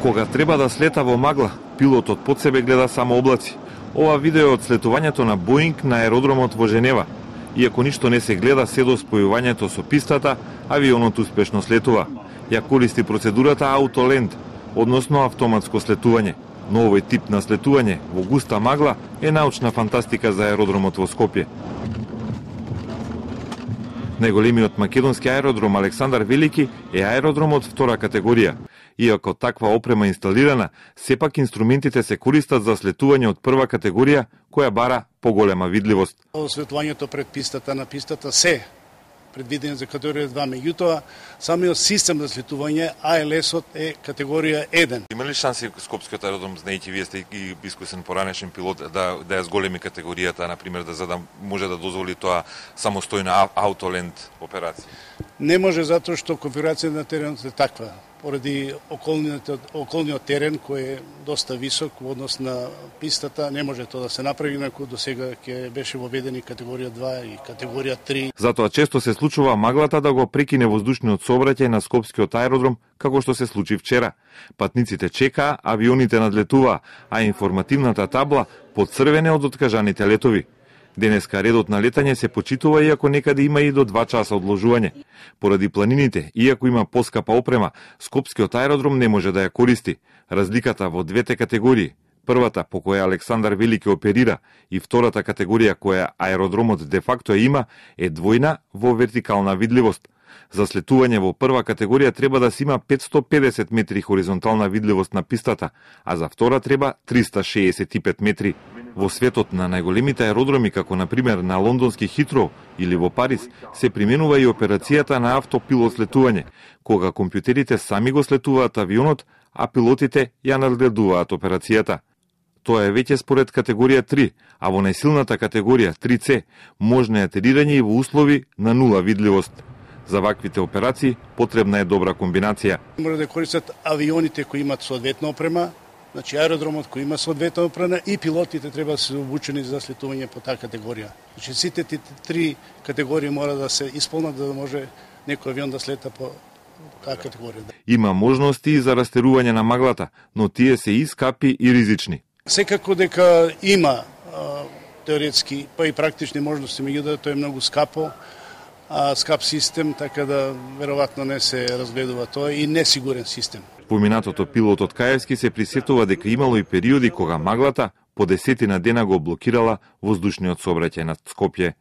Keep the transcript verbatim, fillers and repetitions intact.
Кога треба да слета во магла, пилотот под себе гледа само облаци. Ова видео е од слетувањето на Боинг на аеродромот во Женева. Иако ништо не се гледа се до спојувањето со пистата, авионот успешно слетува. Ја користи процедурата Autoland, односно автоматско слетување. Но овој тип на слетување во густа магла е научна фантастика за аеродромот во Скопје. Најголемиот македонски аеродром Александар Велики е аеродромот втора категорија. Иако таква опрема инсталирана, сепак инструментите се користат за слетување од прва категорија, која бара поголема видливост. Слетувањето пред пистата на пистата се предвидени за категорија два, меѓутоа самиот систем за слетување А Л С-от е категорија еден. Има ли шанси Скопскиот аеродром, знаејќи вие сте и искусен поранешен пилот, да да ја зголеми категоријата, на пример, да за да може да дозволи тоа самостојна Autoland операција? Не може, затоа што конфигурацијата на теренот е таква, поради околниот, околниот терен кој е доста висок во однос на пистата, не може тоа да се направи, инаку до сега ќе беше воведени категорија два и категорија три. Затоа често се случува маглата да го прекине воздушниот сообраќај на Скопскиот аеродром, како што се случи вчера. Патниците чекаа, авионите надлетуваа, а информативната табла поцрвене од откажаните летови. Денеска редот на летање се почитува, иако некаде има и до два часа одложување. Поради планините, иако има поскапа опрема, Скопскиот аеродром не може да ја користи. Разликата во двете категории, првата по која Александар Велики оперира и втората категорија која аеродромот де факто ја има, е двојна во вертикална видливост. За слетување во прва категорија треба да се има петсто педесет метри хоризонтална видливост на пистата, а за втора треба триста шеесет и пет метри. Во светот на најголемите аеродроми, како на пример на лондонски Хитроу или во Париз, се применува и операцијата на автопилот слетување, кога компјутерите сами го слетуваат авионот, а пилотите ја надгледуваат операцијата. Тоа е веќе според категорија три, а во најсилната категорија три С можно е атерирање и во услови на нула видливост. За ваквите операции потребна е добра комбинација. Може да користат авионите кои имат соодветна опрема, значи аеродромот кој има соодветна опрема и пилотите треба да се обучени за слетување по таа категорија. Значи сите три категории мора да се исполнат за да може некој авион да слета по таа категорија. Има можности и за растерување на маглата, но тие се и скапи и ризични. Секако дека има а, теоретски па и практични можности, меѓутоа тоа е многу скапо, а скап систем, така да веројатно не се разгледува тоа и несигурен систем. Поминатото пилотот Каевски се присетува дека имало и периоди кога маглата по десетина дена го блокирала воздушниот сообраќај над Скопје.